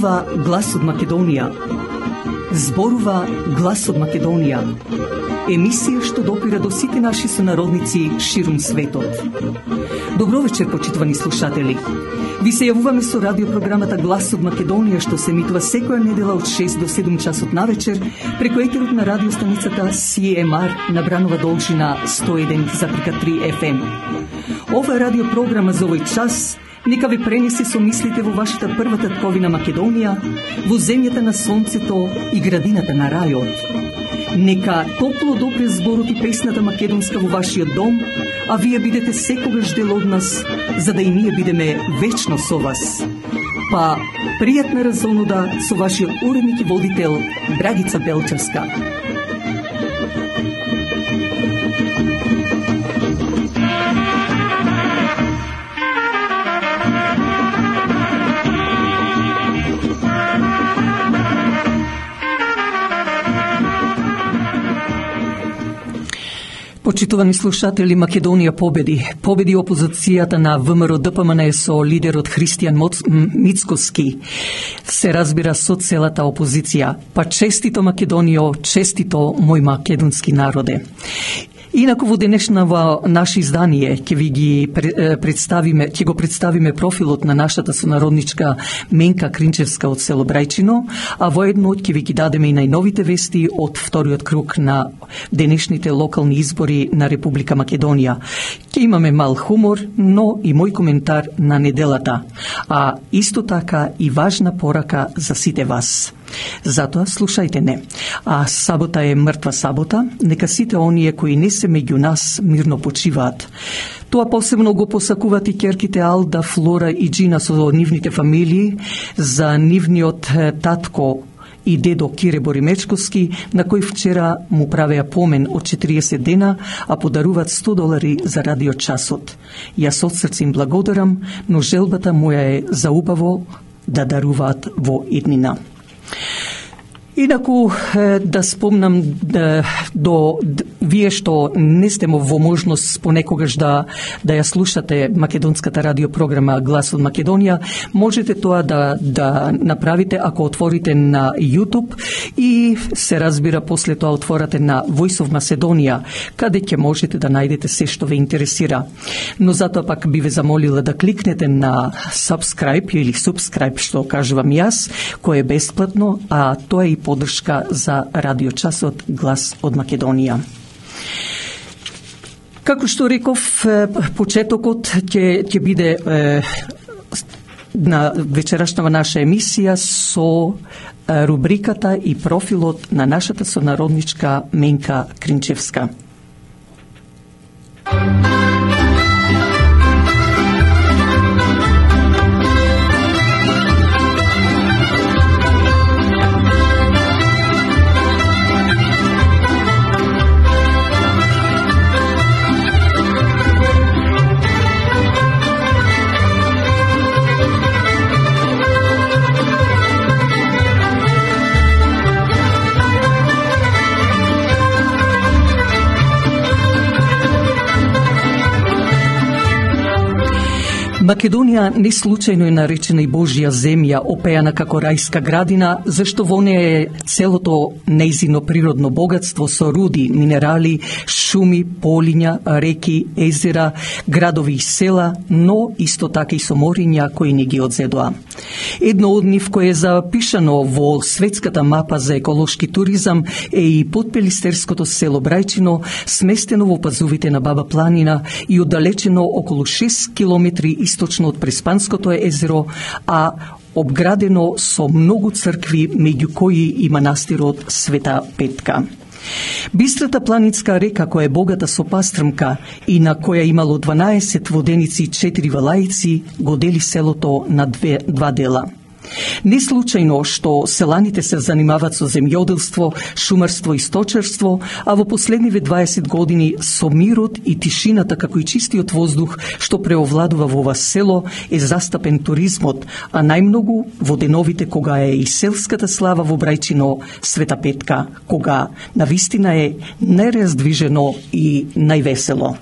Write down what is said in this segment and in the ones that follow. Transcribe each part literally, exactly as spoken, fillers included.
Зборува глас од Македонија. Зборува глас од Македонија. Емисија што допира до сите наши сонародници ширум светот. Добро вечер, почитувани слушатели. Ви се јавуваме со радиопрограмата Глас од Македонија, што се емитува секоја недела од шест до седум часот навечер преку етерот на радиостаницата Си Ем Ар на Бранова должина сто еден запирка три Еф Ем. Ова радиопрограма за овој час нека ве пренесе со мислите во вашата прва татковина Македонија, во земјата на сонцето и градината на рајот. Нека топло допре зборот и песната македонска во вашиот дом, а вие бидете секогаш дел од нас, за да и ние бидеме вечно со вас. Па, пријатна разонуда со вашиот уредник и водител Драгица Белчевска. Почитувани слушатели, Македонија победи. Победи опозицијата на Вэ Ем Р Д П М Н со лидерот Христијан Мицкоски. Се разбира со целата опозиција. Па честито Македонијо, честито мој македонски народе. Инаку во денешнава наше издание ќе ви ги представиме, ќе го представиме профилот на нашата сонародничка Менка Кринчевска од село Брајчино, а воедно ќе ви ги дадеме и најновите вести од вториот круг на денешните локални избори на Република Македонија. Ќе имаме мал хумор, но и мој коментар на неделата, а исто така и важна порака за сите вас. Затоа слушајте не. А сабота е мртва сабота, нека сите оние кои не се меѓу нас мирно почиваат. Тоа посебно го посакуваат и ќерките Алда, Флора и Джина со нивните фамилии, за нивниот татко и дедо Кире Боримечковски, на кој вчера му правеа помен од четириесет дена, а подаруваат сто долари за радиочасот. Јас од срце им благодарам, но желбата моја е за убаво да даруваат во иднина. Инаку да спомнам да, до вие што не сте во можност понекогаш да да ја слушате македонската радиопрограма Глас од Македонија, можете тоа да да направите ако отворите на YouTube и се разбира после тоа отворате на Voice of Macedonia, каде ќе можете да најдете се што ве интересира. Но затоа пак би ве замолила да кликнете на subscribe или subscribe што кажувам јас, кој е бесплатно, а тоа е и поддршка за радиочасот Глас од Македонија. Како што реков, почетокот ќе ќе биде е, на вечерашнава наша емисија со рубриката и профилот на нашата сонародничка Менка Кринчевска. Македонија не случајно е наречена и Божја земја, опеана како рајска градина, зашто во неја е целото нејзино природно богатство со руди, минерали, шуми, полиња, реки, езера, градови и села, но исто така и со мориња кои не ги одзедоа. Едно од нив кое е запишано во светската мапа за еколошки туризам е и Потпелистерското село Брајчино, сместено во пазувите на Баба планина и оддалечено околу шест километри источно од Преспанското езеро, а обградено со многу цркви, меѓу кои и манастирот Света Петка. Бистрата планинска река, која е богата со пастрмка и на која имало дванаесет воденици и четири валаици, го дели селото на две, два дела. Не случајно што селаните се занимаваат со земјоделство, шумарство и сточарство, а во последниве дваесет години со мирот и тишината како и чистиот воздух што преовладува во ова село е застапен туризмот, а најмногу во деновите кога е и селската слава во Брајчино Света Петка, кога навистина е најраздвижено и највесело.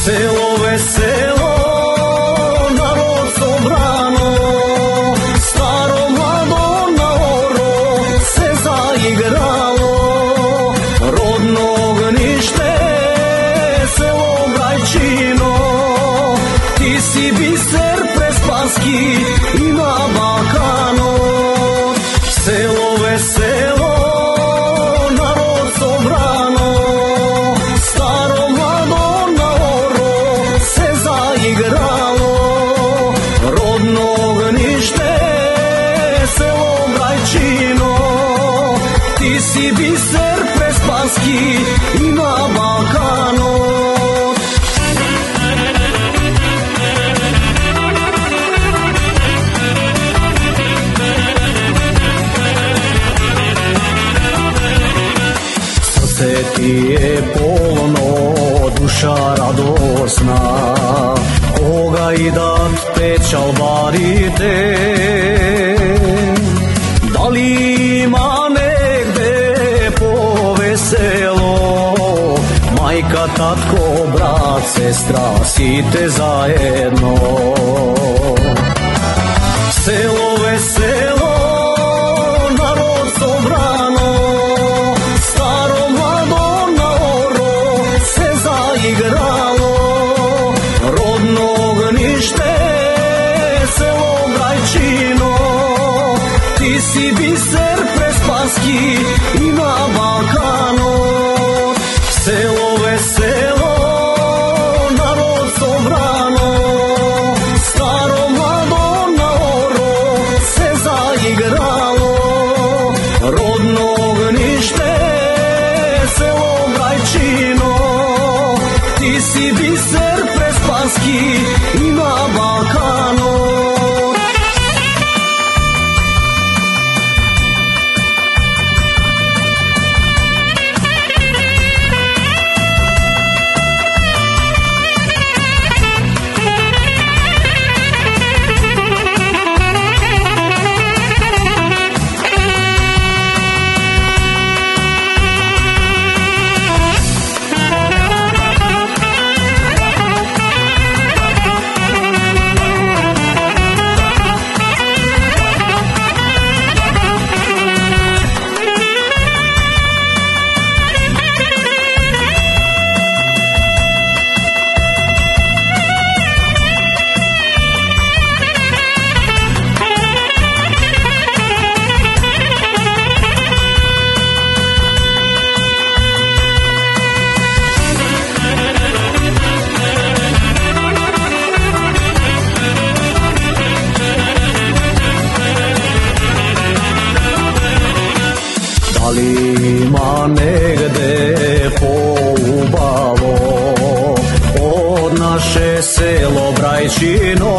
Село весело, народ собрано, старо младо на оро се заиграло. Родно огнище, село Брајчино, ти си бисер преспански и на Балканот. Село весело, народ собрано, старо младо на оро се заиграло. Родно огнище, село Брајчино, ти си бисер преспански и на Балканот. Срце ти е полно, душа радосна, кога идат печалбарите. Дали има негде повесело, мајка, татко, брат, сестра, сите заедно. Село весело, народ собрано, старо младо на оро се заиграло. Родно огнище, село Брајчино, ти си бисер преспански и на Балканот. Село весело, народ собрано, старо младо на оро се заиграло. Родно огнище, село Брајчино, ти си бисер преспански и на Балканот. Дали има негде поубаво од наше село Брајчино?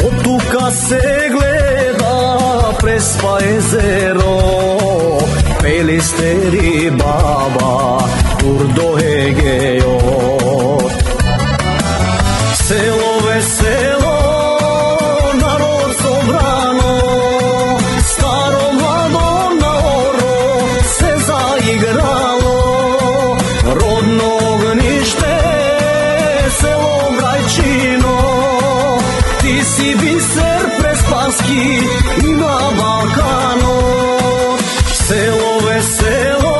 Од тука се гледа Преспа езеро, Пелистери баба, тур до Егејот. Село весело, народ собрано, старо младо на оро се заиграло. Родно огнище, село Брајчино, ти си бисер преспански и на Балканот. Село весело,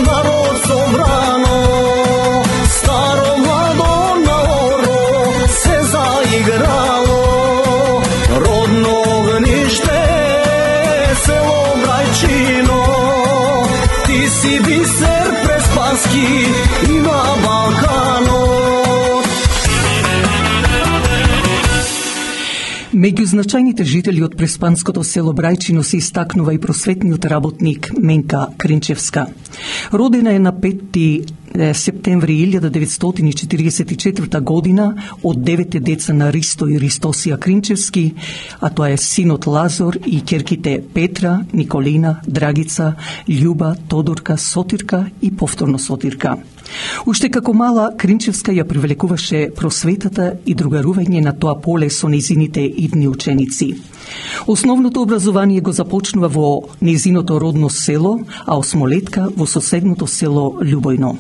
народ собрано, старо младо на оро се заиграло. Родно огнище, село Брајчино, ти си бисер преспански и на Балканот. Меѓу значајните жители од преспанското село Брајчино се истакнува и просветниот работник Менка Кринчевска. Родена е на петти септември илјада деветстотини четиридесет и четврта година од девете деца на Ристо и Ристосија Кринчевски, а тоа е синот Лазор и ќерките Петра, Николина, Драгица, Љуба, Тодорка, Сотирка и повторно Сотирка. Уште како мала, Кринчевска ја привлекуваше просветата и другарување на тоа поле со незините идни ученици. Основното образование го започнува во незиното родно село, а осмолетка во соседното село Љубојно.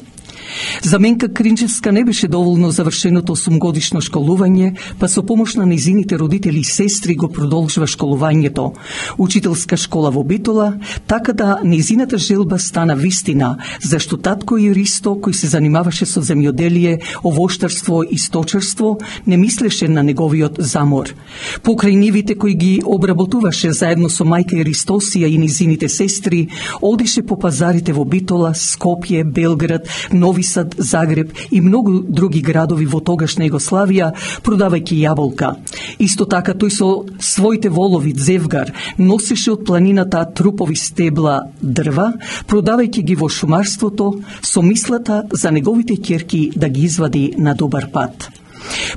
За Менка Кринчевска не беше доволно завршеното осумгодишно школување, па со помош на нејзините родители и сестри го продолжува школувањето. Учителска школа во Битола, така да нејзината желба стана вистина, зашто татко и Ристо, кој се занимаваше со земјоделие, овоштарство и сточарство, не мислеше на неговиот замор. Покрај нивите кои ги обработуваше заедно со мајка Ристосија и нејзините сестри, одише по пазарите во Битола, Скопје, Белград, Нови Сад, Загреб и многу други градови во тогашна Југославија, продавајќи јаболка. Исто така тој со своите волови Зевгар носеше од планината трупови стебла дрва, продавајќи ги во шумарството, со мислата за неговите ќерки да ги извади на добар пат.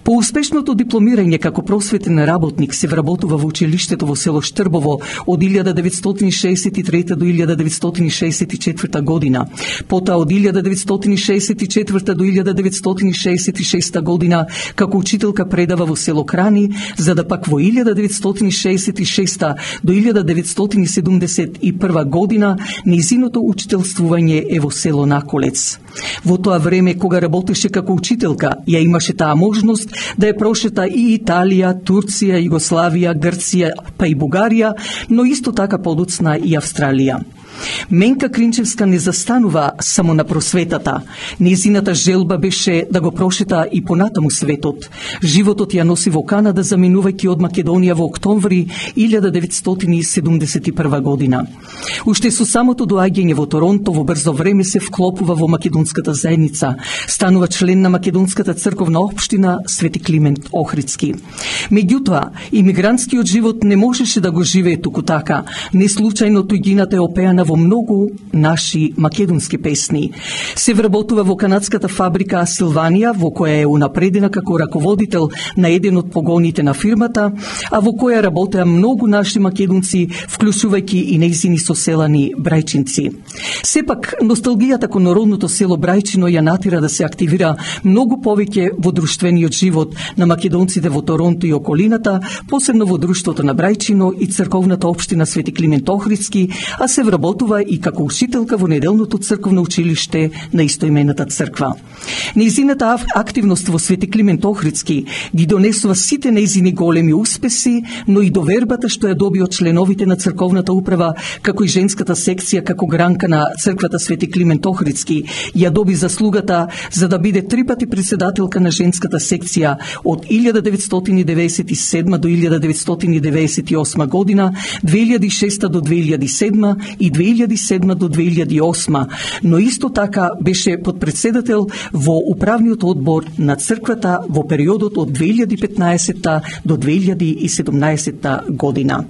По успешното дипломирање како просветен работник се вработува во училиштето во село Штрбово од илјада деветстотини шеесет и трета до илјада деветстотини шеесет и четврта година. Потоа од илјада деветстотини шеесет и четврта до илјада деветстотини шеесет и шеста година како учителка предава во село Крани, за да пак во илјада деветстотини шеесет и шеста до илјада деветстотини седумдесет и прва година нејзиното учителствување е во село Наколец. Во тоа време кога работеше како учителка, ја имаше таа можност да ја прошета и Италија, Турција, Југославија, Грција, па и Бугарија, но исто така подоцна и Австралија. Менка Кринчевска не застанува само на просветата. Нејзината желба беше да го прошета и понатаму светот. Животот ја носи во Канада, заминувајќи од Македонија во октомври илјада деветстотини седумдесет и прва година. Уште со самото доаѓање во Торонто во брзо време се вклопува во македонската заедница. Станува член на Македонската црковна општина Свети Климент Охридски. Меѓутоа, имигрантскиот живот не можеше да го живее туку така. Не случајно туѓината е опеана во многу наши македонски песни. Се вработува во канадската фабрика Силванија, во која е унапредена како раководител на еден од погоните на фирмата, а во која работеа многу наши македонци, вклучувајќи и нејзини соселани брајчинци. Сепак, носталгијата кон родното село Брајчино ја натера да се активира многу повеќе во друштвениот живот на македонците во Торонто и околината, посебно во друштвото на Брајчино и црковната општина Свети Климент Охридски, а се вработува и како учителка во неделното црковно училиште на истоимената црква. Нејзината активност во Свети Климент Охридски ги донесува сите нејзини големи успеси, но и довербата што ја доби од членовите на црковната управа, како и женската секција како гранка на црквата Свети Климент Охридски, ја доби заслугата за да биде три пати председателка на женската секција од илјада деветстотини деветдесет и седма до илјада деветстотини деветдесет и осма година, две илјади и шеста до две илјади и седма и две илјади и седма до две илјади и осма, но исто така беше подпредседател во управниот одбор на црквата во периодот од две илјади и петнаесетта до две илјади и седумнаесетта година.